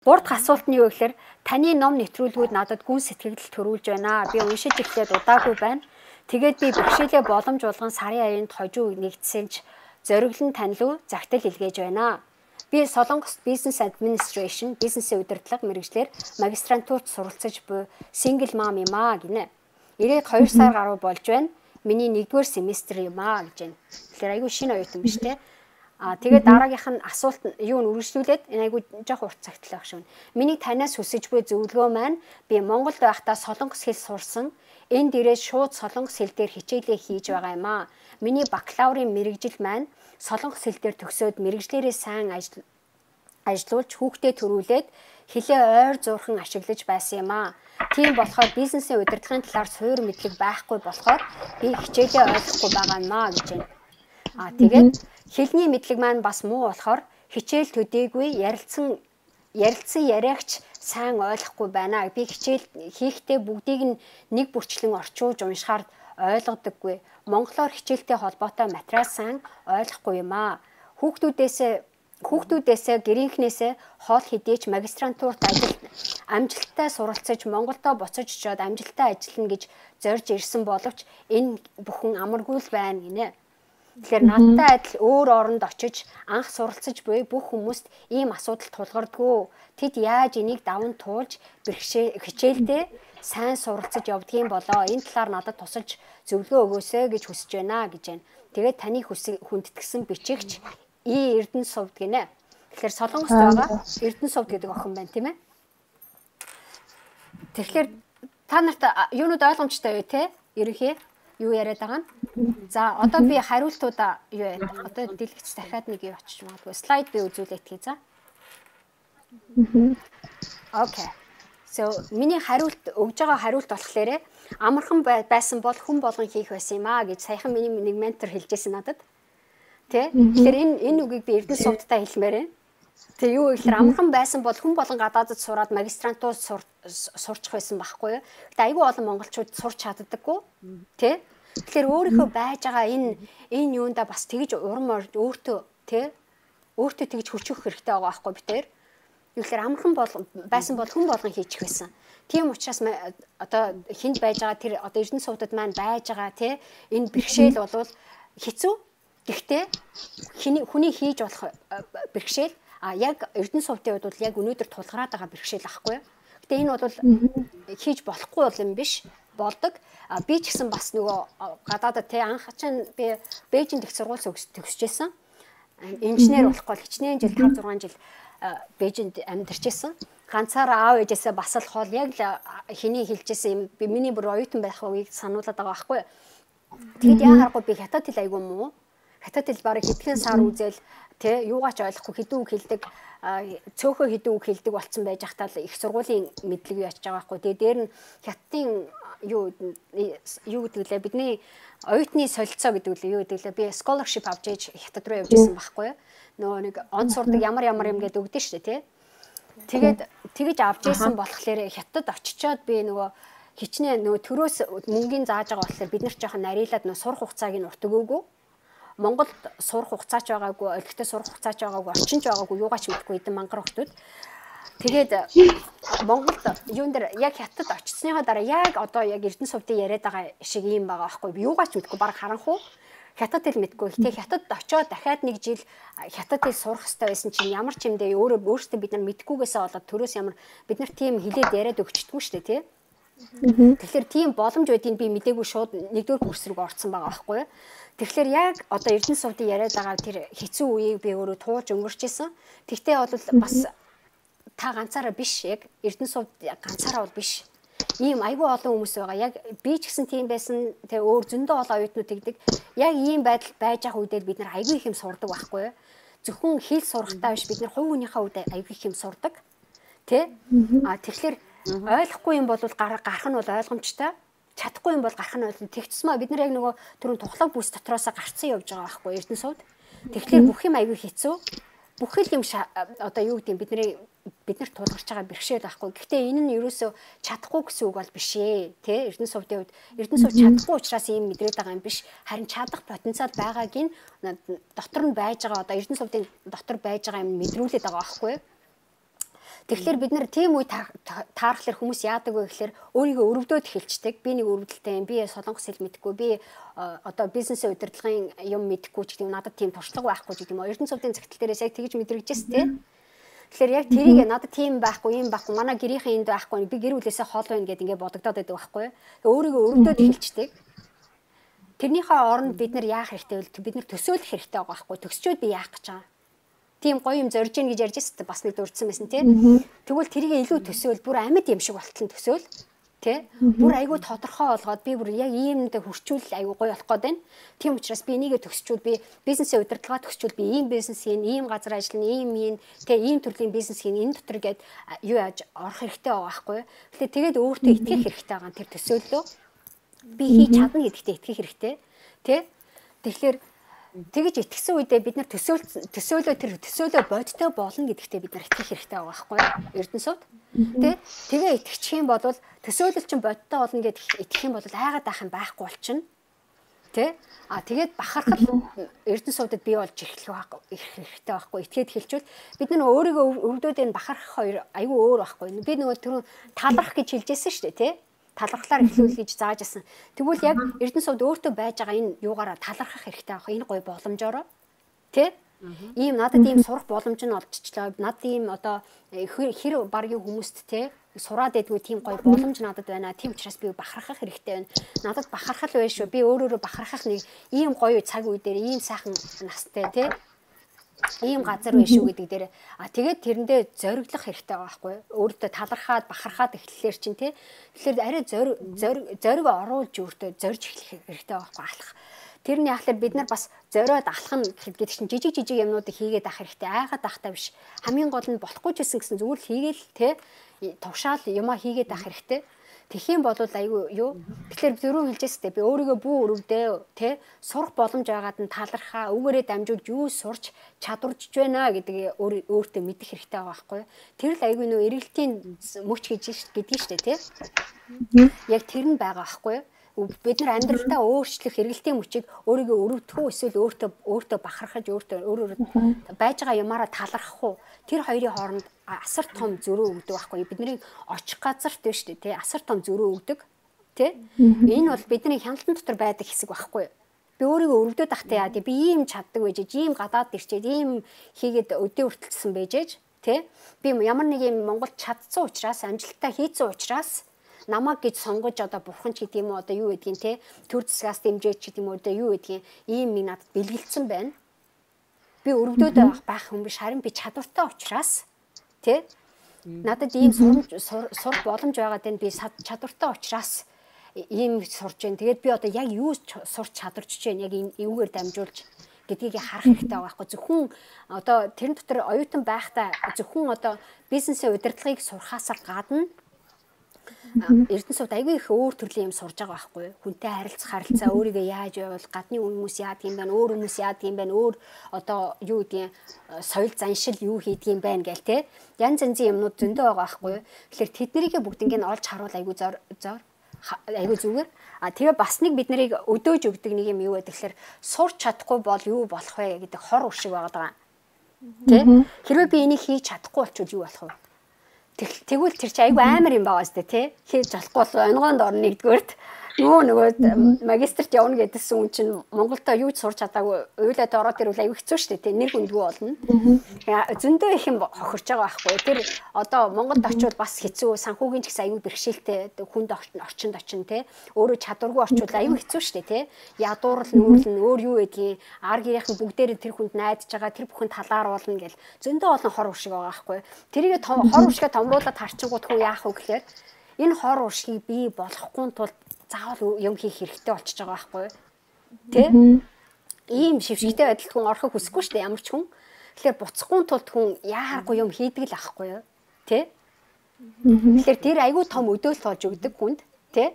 Гурав дахь асуулт нь юу гэхээр таны ном нэвтрүүлгүүд надад гүн сэтгэл төрүүлж байна. Би уншиж эхлээд удаагүй байна. Тэгээд би бэрхшээлээ боломж болгон сарын аянд хожуу нэгдсэнч зориглон танил загтал илгээж байна. Би Солонгост Business Administration, бизнесийн удирдлага мэргэжлэр магистрантурт суралцаж буй single mom юм аа гинэ. Ирээд 2 сар гаруй болж байна. Миний 1-р семестр юм аа гэж байна. Тэгэхээр айгүй шинэ оюутан биш те. Тэгээд дараагийнх нь асуулт юу нь үргэлжлүүлээд энэ айгүй жоох урт цагт л байх шүү. Миний танаас хүсэж буй зөвлөгөө маань би Монголд байхдаа солонгос хэл сурсан. Энд ирээд шууд солонгос хэл дээр хичээлээ хийж байгаа юм аа. Миний бакалаврын мэргэжил маань солонгос хэл дээр төгсөөд мэргэжлэрээ сайн ажиллуулж хүүхдээ төрүүлээд хэлээ ойр зуурхан ашиглаж байсан юм аа. Тийм болохоор бизнесийн удирдлагын талаар суур мэдлэг байхгүй болохоор би хичээлээ ойлгохгүй байгаа юм аа гэж байна. Тэгээд хэлний мэдлэг маань бас муу болохоор хичээл төдийгүй ярилцсан яриагч сайн ойлгохгүй байна. Би хичээл хийхдээ бүгдийг нь нэг бүрчлэн орчуулж уншихаар ойлгодоггүй. Монголоор хичээлтэй холбоотой материал сайн ойлгохгүй юм аа. Хүүхдүүдээсээ гэрийнхнээсээ хоол хэдийч магистрантурт амжилттай суралцаж Монголдо буцаж очиод амжилттай ажиллана гэж зорж ирсэн боловч энэ бүхэн амаргүй л байна гинэ. Тэгэхээр надтай адил өөр оронд очиж анх суралцаж буй бүх хүмүүст ийм асуудал тулгардгүй. Тэд яаж энийг даван туулж хичээлдээ сайн суралцаж явдгийн болоо. Энэ талаар надад тусалж зөвлөгөө өгөөсэй гэж хүсэж байна гэж байна. Тэгээд таны хүндэтгсэн бичигч Эрдэнэ сувд гинэ. Тэгэхээр Солонгост байгаа Эрдэнэ сувд гэдэг охин байна тийм ээ. Тэгэхээр та нарт юунууд ойлгомжтой вэ те? Ерөнхий юу яриад байгаа нь? За одоо би хариултуудаа юу яа. Одоо дэлгэц дахиад нэг юу очиж магадгүй. Слайд би үзүүлээд хий за. Окей. So миний хариулт өгж байгаа хариулт болохоор амархан байсан бол хүн болгон хийх байсан юм аа гэж саяхан миний нэг ментор хэлжсэн надад. Тэ? Тэгэхээр энэ үгийг би Эрдэнэ сувдтай хэлмээр байна. Тэг юу гэхээр амархан байсан бол хүн болгон гадаадд сураад магистрантур сурчих байсан байхгүй юу? Гэтэ айгүй олон монголчууд сурч чаддаггүй. Тэ? Тэгэхээр өөрийнхөө байж байгаа энэ юунда бас тэгж урам өөртөө тэ? Өөртөө тэгж хүчрэх хэрэгтэй байгаа байхгүй би тэр. Юу гэхээр амархан байсан бол хүн болгон хийчих байсан. Тийм учраас одоо хүнд байж байгаа тэр одоо Эрдэнэ сувдад маань байж байгаа тэ? Энэ бэрхшээл болвол хэцүү. Гэхдээ хүний хийж болох бэрхшээл яг Эрдэнэ сувдын хувьд бол яг өнөөдөр тулгараад байгаа бэрхшээл ахгүй. Гэтэ энэ бол хийж болохгүй юм биш болдог. Би ч гэсэн бас нөгөө гадаадад те анх чинь би Бээжинд их сургууль төгсөжсэн. Инженер болохгүй хичнээн жил 5-6 жил Бээжинд амьдарчсэн. Ганцаараа аав ээжээсээ бас л хоол яг л хэний хэлжсэн юм би миний бүр оюутан байх үеийг сануулад байгаа байхгүй. Тэгэд яа харахгүй би хятад хэл айгүй муу. Хятад хэл барыг хэдхэн сар үзэл тэ юугаач ойлгохгүй хэдэн үг хэлдэг цөөхөө хэдэн үг хэлдэг болцсон байж хатаа их сургуулийн мэдлэг яач байгаа байхгүй. Тэгээ дээр нь хятадын юу гэдэг лээ бидний оюутны солилцоо гэдэг лээ юу гэдэг лээ би scholarship авч ээж хятад руу явж исэн байхгүй. Нөгөө нэг он сурдаг ямар юм гээд өгдөн шүү дээ тэ. Тэгээд тэгэж авч исэн болохоор хятад очичоод би нөгөө хичнээн нөгөө төрөөс мөнгөний зааж байгаа болохоор бид нар жоохон нарийнлаад нөгөө сурах хугацааг нь урт өгөөгүй. Монголд сурах хугацаач байгаагүй, олигтой сурах хугацаач байгаагүй, орчинч байгаагүй, юугаач мэдгүй эдэн мангар хүмүүс. Тэгээд Монголд юун дээр яг хятад очисныхаа дараа яг одоо яг Эрдэнэ сувдын яриад байгаа шиг юм байгаа байхгүй. Юугаач мэдгүй баг харанхуу. Хятад хэл мэдгүй. Гэтэ хятад очоод дахиад нэг жил хятад хэл сурах хэрэгтэй байсан чинь ямар ч юм дэ өөрөөсөө бид нар мэдгүйгээсээ болоод төрөөс ямар бид нар тийм хэлээд яриад өгчдгүй шүү дээ тий. Тэгэхээр тийм боломж байдгийг би мдээгүй шууд 1-р курс руу орсон байгаа байхгүй. Тэгэхээр яг одоо Эрдэнэ сувдын яриад байгаа тэр хэцүү үеийг би өөрөө туулж өнгөрчээсэн. Тэгтээ бол бас та ганцаараа биш яг Эрдэнэ сувд ганцаараа бол биш. Ийм айгүй олон хүмүүс байгаа. Яг би ч гэсэн тийм байсан. Тэгээ өөр зөндөө олон оюутнууд тэгдэг. Яг ийм байдал байж байгаа үедээ бид нар айгүй их юм сурдаг байхгүй. Зөвхөн хэл сурахтаа биш бид нар хувь хүнийхээ үед айгүй их юм сурдаг. Тэ? Тэгэхээр ойлгохгүй юм бол гарах нь бол ойлгомжтой. Чадахгүй юм бол гарах нь ойлгомжтой. Тэгчсмаа бид нар яг нөгөө түрүүн тухлаг бүс дотроос гарцсан явж байгаа байхгүй Эрдэнэ сувд. Тэгэхээр бүх юм аягүй хэцүү. Бүх юм одоо юу гэдэг бид нар тулгарч байгаа бэрхшээл байхгүй. Гэхдээ энэ нь ерөөсөө чадахгүй гэсэн үг бол биш ээ. Тэ Эрдэнэ сувдын үед Эрдэнэ сувд чадахгүй учраас ийм мэдрээд байгаа юм биш. Харин чадах потенциал байгааг нь дотор нь байж байгаа одоо Эрдэнэ сувдын дотор байж байгаа юм мэдрүүлээд байгаа байхгүй. Тэгэхээр бид нар тийм үе таархлаар хүмүүс яадаг вэ гэхээр өөрийгөө өрөвдөөд эхэлждэг. Би нэг өрөвдөлтэй юм. Би солонгос хэл мэдэхгүй. Би одоо бизнесийн удирдлагын юм мэдэхгүй ч гэдэг юм. Надад тийм туршлага байхгүй ч гэдэг юм. Эрдэнэсүүдийн загтал дээрээс яг тэгж мэдрэгжээс тэ. Тэгэхээр яг тэрийг надад тийм байхгүй, юм байхгүй. Манай гэрийнхэн энд байхгүй. Би гэр бүлээсээ хол байна гэдээ ингээд бодогдоод байдаг байхгүй. Өөрийгөө өрөвдөөд эхэлждэг. Тэрнийхээ оронд бид нар яах хэрэгтэй вэ? Бид нар төсөөлөх хэрэгтэй байгаа байхгүй. Төсчөөд би яах гэж байгаа. Тийм гоё юм зорж ийн гэж ярьж байсан бас нэг дурдсан байсан тий. Тэгвэл тэрийг илүү төсөөл бүр амьд юм шиг болтол төсөөл тий. Бүр айгүй тодорхой болгоод би бүр яг иймд хурцуул айгүй гоё болох гээд байна. Тийм учраас би энийгээ төсчүүл би бизнесийн удирдлага төсчүүл би ийм бизнес хийн, ийм газар ажиллана, ийм хийн, тий ийм төрлийн бизнес хийн энэ дотор гээд юу яаж орох хэрэгтэй байгаа байхгүй. Тэгэхээр тэгээд өөртөө итгэх хэрэгтэй байгаа тэр төсөөллөө. Би хийж чадна гэдэгтээ итгэх хэрэгтэй тий. Тэгэхээр тэгэж итгэсэн үедээ бид нар төсөөлөө бодтой болно гэдэгтээ бид нар итгэх хэрэгтэй байгаа байхгүй Эрдэнэсүүд тэгээ итгэчих юм бол төсөөлөл чинь бодтой болно гэдээ итгэх юм бол айгаад байх юм байхгүй болчихно тий тэгээд бахархал Эрдэнэсүүдэд бий болж ирэх хэрэгтэй байхгүй итгээд хэлчихвэл бид нар өөрийгөө өвдөөд энэ бахархах хоёр айгүй өөр байхгүй би нөгөө түрүү талархах гэж хэлжсэн шүү дээ тий талархлаар эхлүүл гэж зааж асан. Тэгвэл яг Эрдэнэсүүд өөртөө байж байгаа энэ юугаараа талархах хэрэгтэй байх. Энэ гоё боломжоор тий? Ийм надад ийм сурах боломж нь олдчихлоо. Надад ийм одоо хэр баргийн хүмүүст тий сураад байдгүй тийм гоё боломж надад байна. Тийм учраас би бахархах хэрэгтэй байна. Надад бахархал байна шүү. Би өөрөөрөө бахархах нэг ийм гоё цаг үе дээр ийм сайхан настай тий ийм газар байна шүү гэдэг дээр тэгээд тэрэндээ зориглох хэрэгтэй байгаа байхгүй өөртөө талархаад бахархаад эхлэхлээр чинь тий тэгэхээр арай зориг оруулж өөртөө зорж эхлэх хэрэгтэй байгаа байхгүй алах тэрний ахлаар бид нар бас зориод алах нь гэдэг чинь жижиг юмнуудыг хийгээд авах хэрэгтэй айгаад авахтаа биш хамгийн гол нь болохгүй ч гэсэн зүгээр л хийгээл тий тушаал юмаа хийгээд авах хэрэгтэй Тэхийн болвол айгүй юу. Тэгэхээр зөрүү хэлжээстэй би өөрийгөө бүү өрөвдөө тий сурах боломж байгаад нь талархаа өгөөрэй дамжуулж юу сурч чадварж байна гэдгийг өөртөө мэдэх хэрэгтэй байгаа байхгүй. Тэр л айгүй нөө эргэлтийн мөч гэж гэдгийг штэ тий. Яг тэр нь байгаа байхгүй. Бид нар амьдралдаа өөрчлөх эргэлтийн мөчийг өөрийгөө өрөвдөх үү эсвэл өөртөө бахархаж өөрөөр байж байгаа юмараа талархах уу тэр хоёрын хооронд асар том зөрүү өгдөг байхгүй бидний очих газарт байна шүү дээ тий асар том зөрүү өгдөг тий энэ бол бидний хяналтан дотор байдаг хэсэг байхгүй би өөрийгөө өрөвдөд ахтай яа тий би ийм чаддаг байж ийм гадаад ирчээд ийм хийгээд өдөө хүртэлсэн байжээж тий би ямар нэг юм Монголд чадсан учраас амжилттай хийцэн учраас намаг гэж сонгож одоо бурхан ч гэдэг юм уу одоо юу гэдгийг те төр засгаас дэмжиж гэдэг юм уу одоо юу гэдгийг ийм нэг надад бэлгэлцсэн байна. Би өрөвдөөд байх хүн биш харин би чадвартай учраас те надад ийм сур боломж байгаад байна би чадвартай учраас ийм сурж байна. Тэгээд би одоо яг юу сурч чадварч байна яг эвгээр дамжуулж гэдгийг харах хэрэгтэй байгаа байхгүй зөвхөн одоо тэрэн дотор оюутан байхдаа зөвхөн одоо бизнесийн удирдлагыг сурахаас гадна Эрдэнэсүүд айгүй их өөр төрлийн юм сурж байгаа байхгүй хүнтэй харилцаа өөрийгөө яаж байвал гадны хүмүүс яадаг юм байна өөр хүмүүс яадаг юм байна өөр одоо юу гэдгийг соёл заншил юу хийдэг юм байна гэл те янз янзын юмнууд зөндөө байгаа байхгүй тэгэхээр тэднэрийгээ бүгднийг нь олж харуул айгүй зор айгүй зүгээр тэгээ бас нэг бид нарыг өдөөж өгдөг нэг юм юу вэ тэгэхээр сурч чадахгүй бол юу болох вэ гэдэг хор уршиг байгаа те хэрвээ би энийг хийж чадахгүй болчихвол юу болох вэ Тэгвэл тэр чи айгүй амар юм байгаа сте тий хийж болохгүй бол онгоонд орно нэгдүгээрт нөгөө магистрт явна гэдсэн хүн чинь Монголдо юу ч сурч чадаагүй уйлаад ороод ирвэл айгүй хэцүү штэ тий нэр хүндгүй болно зөндөө их юм хохирч байгаа байхгүй тэр одоо Монголд очивол бас хэцүү санхүүгийн ч гэсэн айгүй бэрхшээлтэй хүнд орчинд очин тий өөрөө чадваргүй орчвол айгүй хэцүү штэ тий ядуурл нүүрлэн өөр юу гэдгийг ар гэрийнхэн бүгдээрээ тэр хүнд найдаж байгаа тэр бүхэнд талааруулна гэл зөндөө олон хор уршиг байгаа байхгүй тэрийг хор уршигээ томруулаад харчингууд хөө яах вэ гэхээр энэ хор уршгийг бий болохгүй тул заавал юм хийх хэрэгтэй болчихж байгаа байхгүй тий ийм шившигтэй байдалд хүн орохыг хүсэхгүй шүү дээ ямар ч хүн тэгэхээр буцахгүй тулд хүн яарахгүй юм хийдэг л ахгүй юу тий тэгэхээр тэр айгүй том өдөөлт болж өгдөг хүнд тий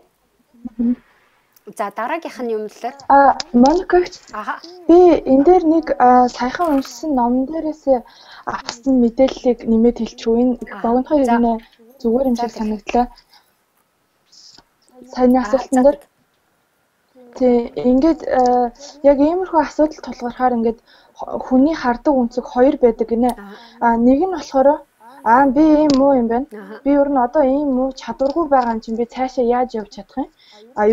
за дараагийнх нь юм лээ Моникагч би энэ дээр нэг саяхан уншсан ном дээрээс авсан мэдээллийг нэмээд хэлчихв энэ их богинохон юм зүгээр юм шиг санагдлаа Сайн асуултан дээр тий ингээд яг иймэрхүү асуудал тулгархаар ингээд хүний хардаг үнцэг хоёр байдаг гинэ. Нэг нь болохоор би ийм муу юм байна. Би ер нь одоо ийм муу чадваргүй байгаа юм чинь би цаашаа яаж явж чадах юм?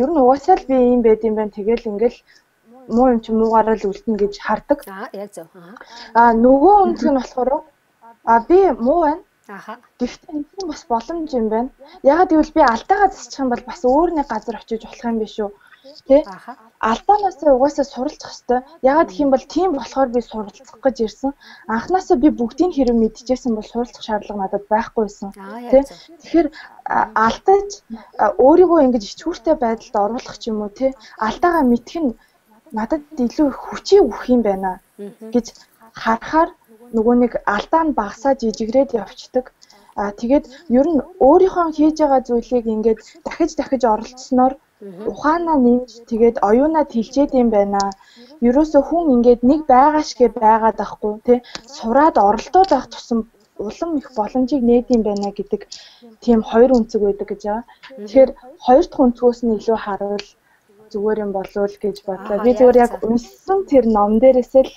Ер нь угаасаа л би ийм байд юм байна. Тэгэл ингээл муу юм чинь муугаараа л үлдэнэ гэж хардаг. Яг зөв. Нөгөө үнэлэг нь болохоор би муу байна. Гэхдээ энэ бас боломж юм байна. Ягаад гэвэл би алдаагаа засчих юм бол бас өөр нэг газар очиж болох юм биш үү? Тэ? Алдаанаасаа угаасаа суралцах хэрэгтэй. Ягаад гэх юм бол тийм болохоор би суралцах гэж ирсэн. Анхнаасаа би бүгдийг хэрэг мэдчихсэн бол суралцах шаардлага надад байхгүй байсан. Тэ? Тэгэхээр алдаж өөрийгөө ингэж ичгүүртэй байдалд оруулах ч юм уу, тэ? Алдаагаа мэдэх нь надад илүү хүчийг өгөх юм байна гэж харахаар нөгөө нэг алдаа нь багасаа жижигрээд явцдаг. Тэгээд ер нь өөрийнхөө хийж байгаа зүйлийг ингээд дахиж оролцсноор ухаанаа нэмж тэгээд оюунаа тэлжээд юм байна. Ерөөсөө хүн ингээд нэг байгаа шигэ байгаад ахгүй тий сураад оролдоод байх тусам улам их боломжийг нээд юм байна гэдэг тийм хоёр үнцэг байдаг гэж байгаа. Тэгэхээр хоёр дахь үнцгөөс нь илүү харуул зүгээр юм болов гэж бодлоо. Би зүгээр яг уншсан тэр ном дээрээс л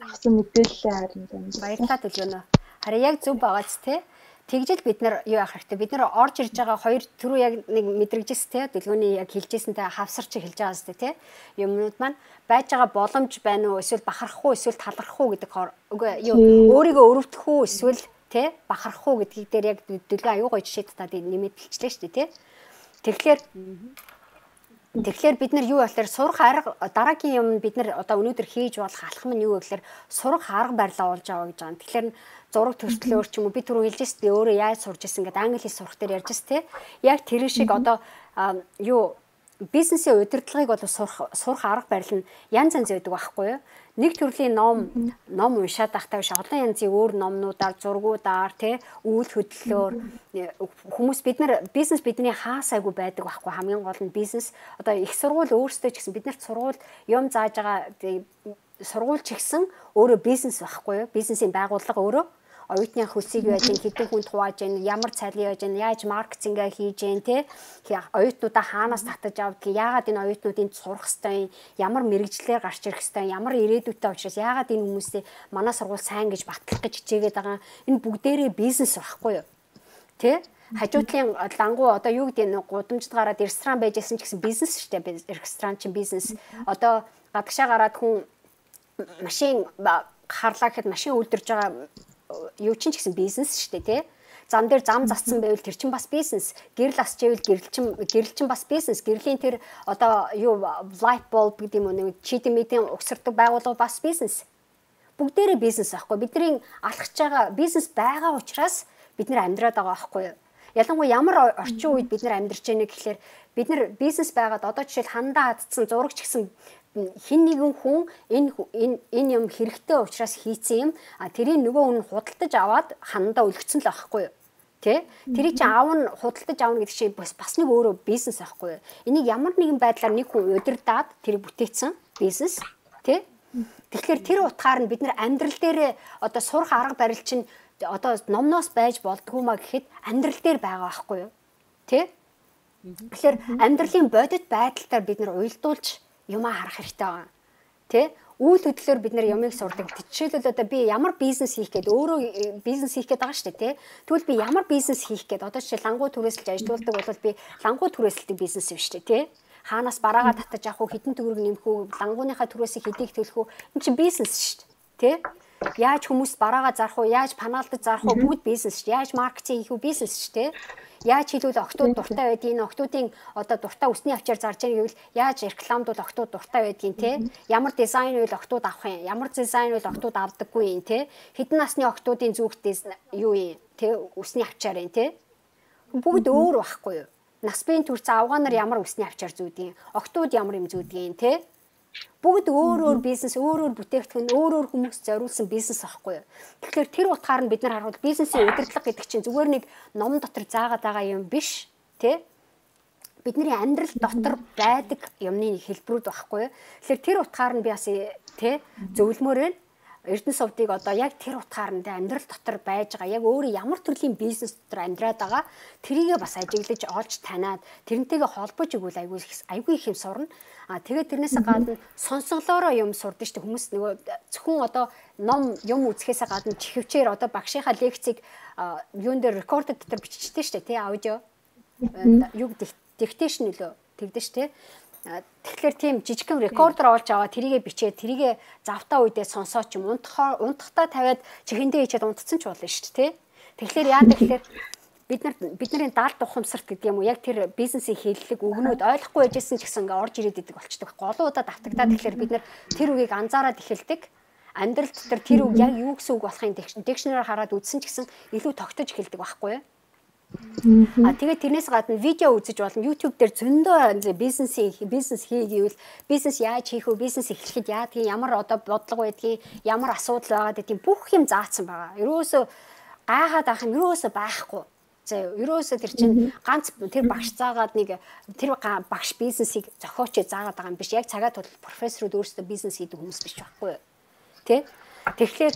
авсан мэдээлэл харин байна. Баярлалаа төлөөнө. Харин яг зөв байгааз те. Тэгжэл бид нар юу яах хэрэгтэй? Бид нар орж ирж байгаа хоёр түрүү яг нэг мэдрэгжсэн те. Төлөвлөгөөний яг хэлжсэнтэй хавсарч хэлж байгаа зү те. Юмнууд маань байж байгаа боломж байна уу? Эсвэл бахарах уу? Эсвэл талархах уу гэдэг өөрийгөө өрөвдөх үү? Эсвэл те бахарах уу гэдгийг дээр яг төлөвлөгөө аюу гоё жишээ татаад нэмээд хэлчихлээ шүү дээ те. Тэгэхээр бид нар юу болохоор сурах арга дараагийн юм бид нар одоо өнөөдөр хийж болох алхам нь юу вэ гэхээр сурах арга барилаа олж аваа гэж байгаа. Тэгэхээр зураг төрслөөр ч юм уу би түрүү хэлжээс би өөрөө яаж сурж ирсэн гэдэг англи хэл сурах дээр ярьжээс те. Яг тэр шиг одоо бизнесийн удирдлагыг бол сурах арга барил нь янз янз байдаг байхгүй юу? Нэг төрлийн ном уншаад байхдаа биш олон янзын өөр номнуудаар зургуудаар тий үйл хөдлөлөөр хүмүүс бид нар бизнес бидний хаасайгүй байдаг байхгүй хамгийн гол нь бизнес одоо их сургууль өөрсдөө ч гэсэн биднэрт сургууль юм зааж байгаа сургууль ч гэсэн өөрөө бизнес байхгүй юу бизнесийн байгууллага өөрөө оюутны хөлсийг яаж хэдэн хүнд хувааж яа ямар цалин яаж яаж маркетингээ хийж яа те оюутнуудаа хаанаас татаж авдаг яагаад энэ оюутнуудын сурах хэвээр ямар мэрэгжлээр гарч ирэх хэвээр ямар ирээдүйтэй учраас яагаад энэ хүмүүсээ манай сургууль сайн гэж батлах гэж хичээгээд байгаа энэ бүгдээрээ бизнес байхгүй юу те хажуутлын лангуу одоо юу гэдэг нь гудамжид гараад ресторан байжсэн ч гэсэн бизнес шүү дээ ресторан чинь бизнес одоо гадагшаа гараад хүн машин харлаа гэхэд машин үлдэрж байгаа юу ч гэсэн бизнес шүү дээ тий. Зам дээр зам зассан байвал тэр чинь бас бизнес. Гэрэл асч ивэл гэрэл чинь бас бизнес. Гэрлийн тэр одоо юу light bulb гэдэг юм уу нэг чийдэн мэдэн угсардаг байгууллага бас бизнес. Бүгдээрээ бизнес аахгүй. Бидний алхаж байгаа бизнес байгаа учраас бид нэр амьдраад байгаа аахгүй юу. Ялангуяа ямар орчин үед бид нар амьдарч байна гэхлээр бид нар бизнес байгаад одоо жишээл хандаа хатцсан зурагч гэсэн хин нэгэн хүн энэ юм хэрэгтэй учраас хийцэн юм тэрийг нөгөө хүн худалдаж аваад хандаа өлгцөн л байхгүй юу тий тэрийг чи аавн худалдаж авна гэдэг чинь бас нэг өөрөө бизнес байхгүй юу энийг ямар нэгэн байдлаар нэг хүн удирдаад тэрийг бүтээсэн бизнес тий тэгэхээр тэр утгаар нь бид нар амьдрал дээр одоо сурах арга барил чинь одоо номноос байж болдгоо маа гэхэд амьдрал дээр байгаа байхгүй юу тий тэгэхээр амьдралын бодит байдалтаар бид нар уйлдуулж юмаа харах хэрэгтэй байгаа. Тэ? Үйл хөдлөлөөр бид нэр юмыг сурдаг. Жишээлбэл одоо би ямар бизнес хийх гээд өөрөө бизнес хийх гээд байгаа шүү дээ, тэ? Тэгвэл би ямар бизнес хийх гээд одоо жишээ лангуу түрээсэлж ажилуулдаг бол би лангуу түрээсэлтийн бизнес юм шүү дээ, тэ? Хаанаас бараагаа татаж авах уу, хэдэн төгрөг нэмэх үү, лангууныхаа түрээсийг хэдийг төлөх үү? Энэ чинь бизнес шүү дээ, тэ? Яаж хүмүүст бараагаа зарах уу, яаж панаалдаж зарах уу, бүгд бизнес шүү дээ. Яаж маркетинг хийх үү, бизнес шүү дээ. Яаж хэлвэл октод дуртай байдгийг октодын одоо дуртай үсний авчаар зарж байгаа гэвэл яаж рекламдуул октод дуртай байдгийг те ямар дизайн үйл октод авах юм ямар дизайн үйл октод авдаггүй юм те хэдэн насны октодын зүгтээс юу юм те үсний авчаар юм те бүгд өөр байхгүй юу нас биеийн төрц авгаанаар ямар үсний авчаар зүүдгийг октод ямар юм зүүдгийг те бүгд өөр бизнес өөр бүтээгдэхүүн өөр хүмүүс зориулсан бизнес аахгүй юу. Тэгэхээр тэр утгаар нь бид нар харуул бизнесийн удирдлага гэдэг чинь зүгээр нэг ном дотор заагаад байгаа юм биш тий. Бидний амьдрал дотор байдаг юмны хэлбэрүүд байхгүй юу. Тэгэхээр тэр утгаар нь би бас тий зөвлөмөр байна. Эрдэнэ сувдыг одоо яг тэр утгаар нь амьдрал дотор байж байгаа яг өөрөө ямар төрлийн бизнес дотор амьдраад байгаа тэрийгээ бас ажиглаж олж танаад тэрнтэйгээ холбож өгвөл айгүй их юм сурна. Тэгээд тэрнээс гадна сонсголоороо юм сурдаг шүү дээ хүмүүс нөгөө зөвхөн одоо ном юм үзэхээс гадна чихвчээр одоо багшийнхаа лекцийг юун дээр рекорд дотор биччихтэй шүү дээ тий аудио юу диктейшн нөлөө тэгдэж шүү дээ. Тэгэхээр тийм жижигхэн рекордер олж аваад тэрийгэ бичээд тэрийгэ завтаа үедээ сонсоо ч юм унтахтаа тавиад чихэндээ хийчихэд унтцсан ч болно шүү дээ. Тэгэхээр яадаг гэхээр бидний даалт ухамсарт гэдэг юм уу яг тэр бизнесийн хэллэг өгнүүд ойлгохгүй байжсэн ч гэсэн ингээ орж ирээд идэг болчдөг. Голуудаа давтагдаад тэгэхээр бид нар тэр үгийг анзаараад эхэлдэг. Амьдрал дотор тэр үг яг юу гэсэн үг болохын дикшнераар хараад үзсэн ч гэсэн илүү тогтож эхэлдэг байхгүй юу? Тэгээд тэрнээс гадна видео үзэж болно. YouTube дээр зөндөө бизнес хий гэвэл бизнес яаж хийх вэ? Бизнес эхлэхэд яадгийг, ямар одоо бодлого байдгийг, ямар асуудал байгаад гэдгийг бүх юм заасан байгаа. Ерөөсөө гайхаад авах юм ерөөсөө байхгүй. Ерөөсөө тэр чинь ганц тэр багш заагаад нэг тэр багш бизнесийг зохиочоо заагаад байгаа юм биш. Яг цагаат бол профессорууд өөрсдөө бизнес хийдэг хүмүүс биш байхгүй юу? Тэ? Тэгэхээр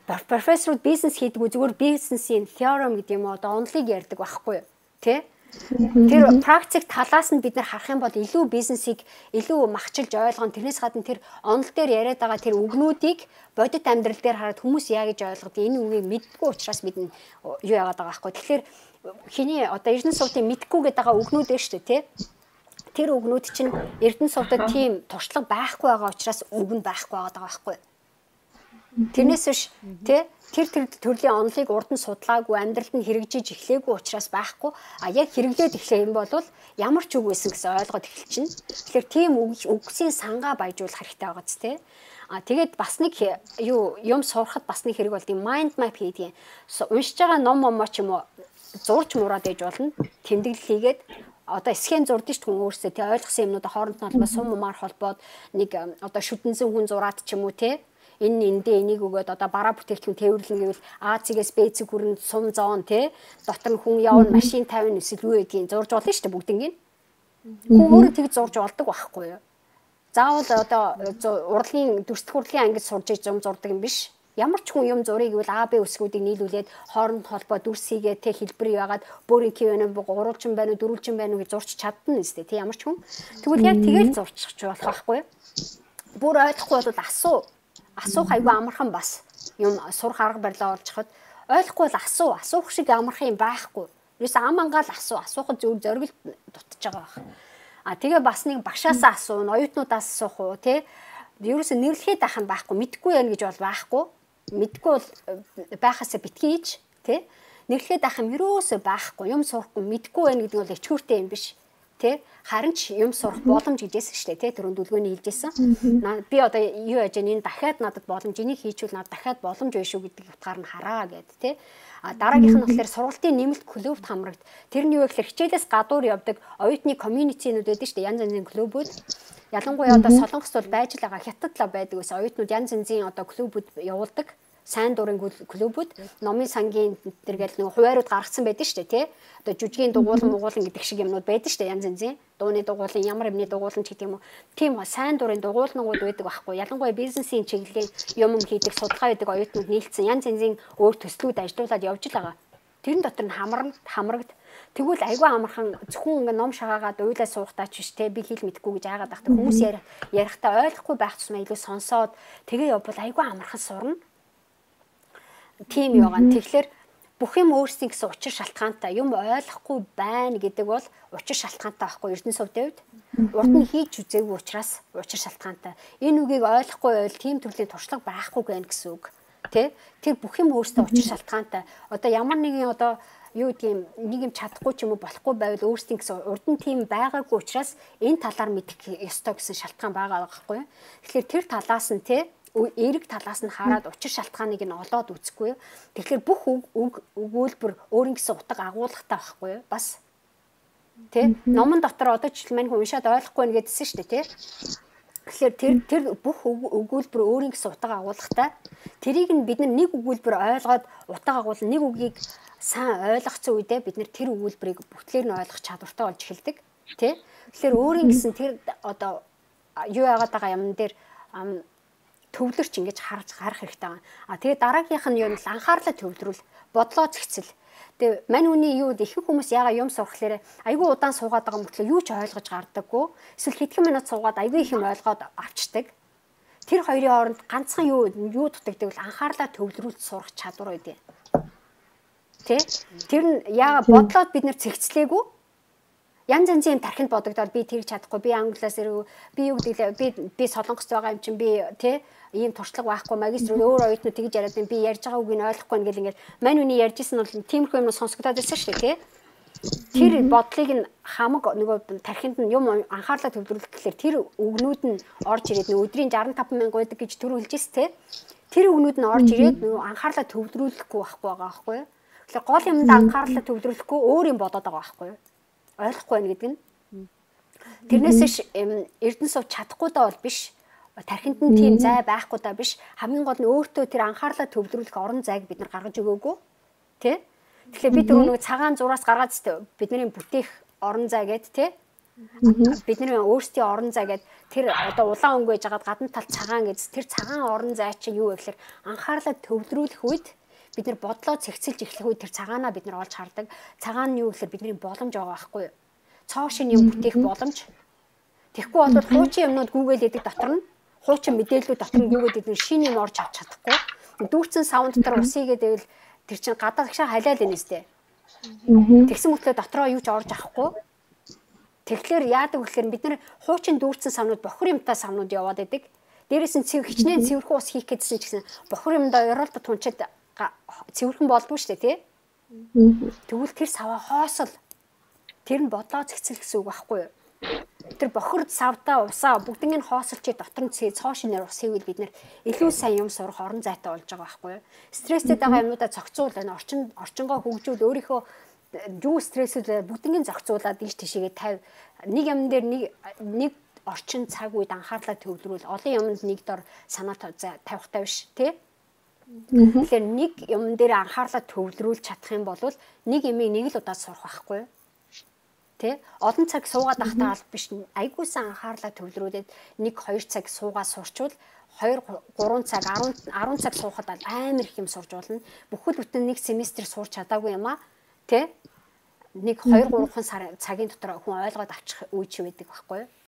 профессорууд бизнес хийдэг үү зүгээр бизнесийн theorem гэдэг юм одоо онолыг ярьдаг байхгүй юу? Тэ? Тэр практик талаас нь бид нар харах юм бол илүү бизнесийг илүү махчилж ойлгоно. Тэрнээс гадна тэр онол дээр яриад байгаа тэр үгнүүдийг бодит амьдрал дээр хараад хүмүүс яа гэж ойлгодог энэ үгийг мэдгүй учраас бид юу яагаад байгаа байхгүй. Тэгэхээр хиний одоо Эрдэнэ сувдын мэдгүй гэдэг байгаа үгнүүд байна шүү дээ тий. Тэр үгнүүд чинь Эрдэнэ сувдад тийм туршлага байхгүй байгаа учраас үг нь байхгүй байгаа байхгүй. Тэрнээс биш тий тэр төрлийн онолыг урд нь судлаагүй амьдралд нь хэрэгжиж эхлээгүй учраас байхгүй яг хэрэглээд эхлэх юм бол ямар ч үг байсан гэсэн ойлгоод эхэлчихнэ. Тэгэхээр тийм үгсийн сангаа баяжуулах хэрэгтэй байгаа ч тий. Тэгээд бас нэг юм сурахад бас нэг хэрэг бол тийм mind map хийдэг. Уншиж байгаа ном ч юм уу зурж мураад ээж болно. Тэмдэглэл хийгээд одоо схем зурдж шүү хүн өөрсдөө тий ойлгосон юмнуудаа хооронд нь холбоо сум маар холбоод нэг одоо шүдэнсэн хүн зураад ч юм уу тий энэ энийг өгөөд одоо бараа бүтээгдэхүүн тээвэрлэн гэвэл А-цэгээс Б-цэг хүрэн сум зоон тий дотор нь хүн явна машин тавина эсвэл юу гэдгийг зурж болно шүү дээ бүгднийг. Хүн өөрөө тэг зурж болдог байхгүй юу? Заавал одоо урлагийн дүрстэх урлагийн ангид сурж зум зурдаг юм биш. Ямар ч хүн юм зургийг гэвэл А, Б үсгүүдийг нийлүүлээд хооронд холбоо дүрс хийгээ тэ хэлбэр яагаад бөөрийн кивэнэ гурвалжин байна уу дөрвөлжин байна уу гэж зурч чадна нэстэ тий ямар ч хүн. Тэгвэл яг тэгэл зурчих болох байхгүй юу? Бүр ойлгохгүй бол асуух айгүй амархан бас юм сурах арга барилаа олж хад ойлгохгүй бол асуух шиг амархан юм байхгүй. Юусе ам ангаал асуухад зөв зоригт дутж байгаа байх. Тэгээ бас нэг багшаасаа асууна, оюутнуудаас асуух уу тий. Юусе нэрлэхэд ах юм байхгүй, мэдгүй яа гэж бол байхгүй. Мэдгүй бол байхасаа битгий ич тий. Нэрлэхэд ах юм юусе байхгүй, юм сурахгүй мэдгүй байна гэдэг бол ичгүүртэй юм биш. Тэ харин ч юм сурах боломж гэжсэн шүү дээ тий түрүүнд дүлгөөний хэлжсэн. Би одоо юу яаж энэ дахиад надад боломж энийг хийчихвэл надад дахиад боломж байна шүү гэдэг утгаар нь хараа гэд тий. Дараагийнх нь болохоор сургалтын нэмэлт клубт хамрагд. Тэр нь юу гэхээр хичээлээс гадуур явдаг оюутны комьюнитинууд байдаг шүү дээ янз янзын клубүүд. Ялангуяа одоо Солонгост бол байж л байгаа хятад л байдаг ус оюутнууд янз янзын одоо клубүүд явуулдаг. Сайн дурын клубүүд номын сангийн тэргээл нэг хуваарууд гаргацсан байдаг шүү дээ тий. Одоо жүжигийн дугуулan гэдэг шиг юмнууд байдаг шүү дээ янз янзын. Дууны дугуулan ямар юмны дугуулan ч гэдэг юм уу. Тийм сайн дурын дугуулнууд байдаг байхгүй. Ялангуяа бизнесийн чиглэлийн юм хийдэг судалгаа хийдэг оюутнууд нийлцсэн янз янзын өөр төслүүд ажиллуулад явж л байгаа. Тэрэн дотор нь хамрагд тэгвэл айгүй амархан зөвхөн ингээ ном шагаагаад уйлаа суухтаа ч биш те би хэл мэдэхгүй гэж айгаад байхдаа хүмүүс ярихдаа ойлгохгүй байх тусмаа илүү сонсоод тэгээ явбал айгүй амархан сурна. Тийм яваа. Тэгэхээр бүх юм өөрсдийн гэсэн учир шалтгаантай юм ойлгохгүй байна гэдэг бол учир шалтгаантай байхгүй Эрдэнэ сувдын хувьд. Урд нь хийж үзээгүй учраас учир шалтгаантай. Энэ үгийг ойлгохгүй байвал тийм төрлийн туршлага байхгүй байх гэсэн үг. Тэ? Тэр бүх юм өөрсдөө учир шалтгаантай. Одоо ямар нэгэн одоо юу гэдгийг нэг юм чадахгүй ч юм уу болохгүй байвал өөрсдийн гэсэн урд нь тийм байгаагүй учраас энэ талаар мэдэх ёстой гэсэн шалтгаан байгаа байхгүй. Тэгэхээр тэр талаас нь тэ эерэг талаас нь хараад учир шалтгааныг нь олоод үзэхгүй. Тэгэхээр бүх өгүүлбэр өөрийн гэсэн утга агуулгатай байхгүй юу? Бас тий номон дотор одоо жишээл мань хүн уншаад ойлгохгүй нэг гэдсэн шүү дээ тий. Тэгэхээр тэр бүх өгүүлбэр өөрийн гэсэн утга агуулгатай. Тэрийг нь бид нэг өгүүлбэр ойлгоод утга агуулна нэг үгийг сайн ойлгоцсон үедээ бид нэр тэр өгүүлбэрийг бүтээр нь ойлгох чадвартай болж эхэлдэг тий. Тэгэхээр өөрийн гэсэн тэр одоо юу яагаад байгаа юм дээр төвлөрч ингэж харах хэрэгтэй байна. Тэгээ дараагийнх нь юу нь анхаарлаа төвлөрүүл, бодлоо зэгцэл. Тэгээ мань үний юу ихэнх хүмүүс яага юм сурахлаарэ айгүй удаан суугаад байгаа мөртлөө юу ч ойлгож гардаггүй. Эсвэл хэдхэн минут суугаад айгүй их юм ойлгоод авчдаг. Тэр хоёрын хооронд ганцхан юу дутагддаг бол анхаарлаа төвлөрүүлж сурах чадвар байдیں۔ Тэ? Тэр нь яага бодлоод бид нэр цэгцлээгүй. Янз янзын тархинд бодогдоод би тэрч чадахгүй, би англиас ирв, би юу гэдэг би солонгост байгаа юм чинь би тэ ийм туршлага байхгүй, магистр өөр оюутнууд тэгж яриад би ярьж байгаа үгийг ойлгохгүй ингээл ингээд мань үний ярьжсэн бол тиймэрхүү юм сонсогдоод байсан шүү дээ, тэ. Тэр бодлыг нь хамаг нөгөө тархинд нь юм анхаарлаа төвлөрүүлэх гэхэлэр тэр үгнүүд нь орж ирээд нөгөө өдрийн 65 мянга байдаг гэж түр хэлжээс, тэ. Тэр үгнүүд нь орж ирээд нөгөө анхаарлаа төвлөрүүлэхгүй байхгүй байгаа байхгүй юу? Тэгэхээр гол юмд анхаарлаа төвлөрүүлэхгүй өөр юм бодоод байгаа байхгүй юу? Ойлгохгүй байна гэдэг нь. Тэрнээс эрдэнэ сув чадахгүй даа бол биш. Тархинд нь тийм зай байхгүй даа биш. Хамгийн гол нь өөртөө тэр анхаарлаа төвлөрүүлэх орон зайг бид нар гаргаж өгөөгүй. Тэ? Тэгэхээр бид нөгөө цагаан зураас гаргаад бидний бүтээх орон зай гэд тэ? Бидний өөрсдийн орон зай гэд тэр одоо улаан өнгө гэж хагаад гадна тал цагаан гэж тэр цагаан орон зай чинь юу вэ гэхээр анхаарлаа төвлөрүүлэх үед бид нар бодлоо цэгцэлж эхлэх үед тэр цагаанаа бид нар олж хардаг. Цагаан нь юу гэхээр бидний боломж байгаа байхгүй юу? Цоо шин юм бүтээх боломж. Тэгэхгүй бол хуучин юмнууд гүүгээл яадаг дотор нь хуучин мэдээллүүд дотор нь гүүгээд идэв шин юм орж авч чадахгүй. Дүүрсэн саунд дотор усыгээд байвал тэр чин гадаад агшаа халаал энэстэй. Тэгсэн мэтлээ дотроо юу ч орж авахгүй. Тэгэхээр яадаг гэхээр бид нар хуучин дүүрсэн савнууд бохор юмтай савнууд яваад идэг. Дээрээс нь хичнээн цэвэрхэн ус хийх гэдсэн ч гэсэн бохор юмдаа ёроолт тунчаад цэвэрхэн болдгоо шүү дээ, тий? Тэгвэл тэр саваа хоосол тэр нь бодлоо цэгцэл гэсэн үг байхгүй юу? Тэр бохор савдаа усаа бүгднийг нь хоосолч дотор нь цоо шинээр ус хийвэл бид нэр илүү сайн юм сурах орон зайтай болж байгаа байхгүй юу? Стресстэй байгаа юмудаа зохицуулна, орчингоо хөгжүүл өөрийнхөө юу стрессээ бүгднийг зохицуулаад ийш тийшээгээ тавь. Нэг юм дээр нэг орчин цаг үед анхаарлаа төвлөрүүл олон юмд нэг дор санаа тавихтай биш, тий? Тэгэхээр нэг юм дээр анхаарлаа төвлөрүүлж чадах юм бол нэг юмыг нэг л удаа сурах байхгүй юу? Тэ? Олон цаг суугаад ахтаа аль биш айгүйсан анхаарлаа төвлөрүүлээд 1-2 цаг суугаа сурчвал 2-3 цаг 10 цаг суухад амар их юм сурж болно. Бүхэл бүтэн нэг семестр сурч чадаагүй юм аа. Тэ? 1-2-3 цагийн дотор хүн ойлгоод авчих үе ч байдаг байхгүй юу?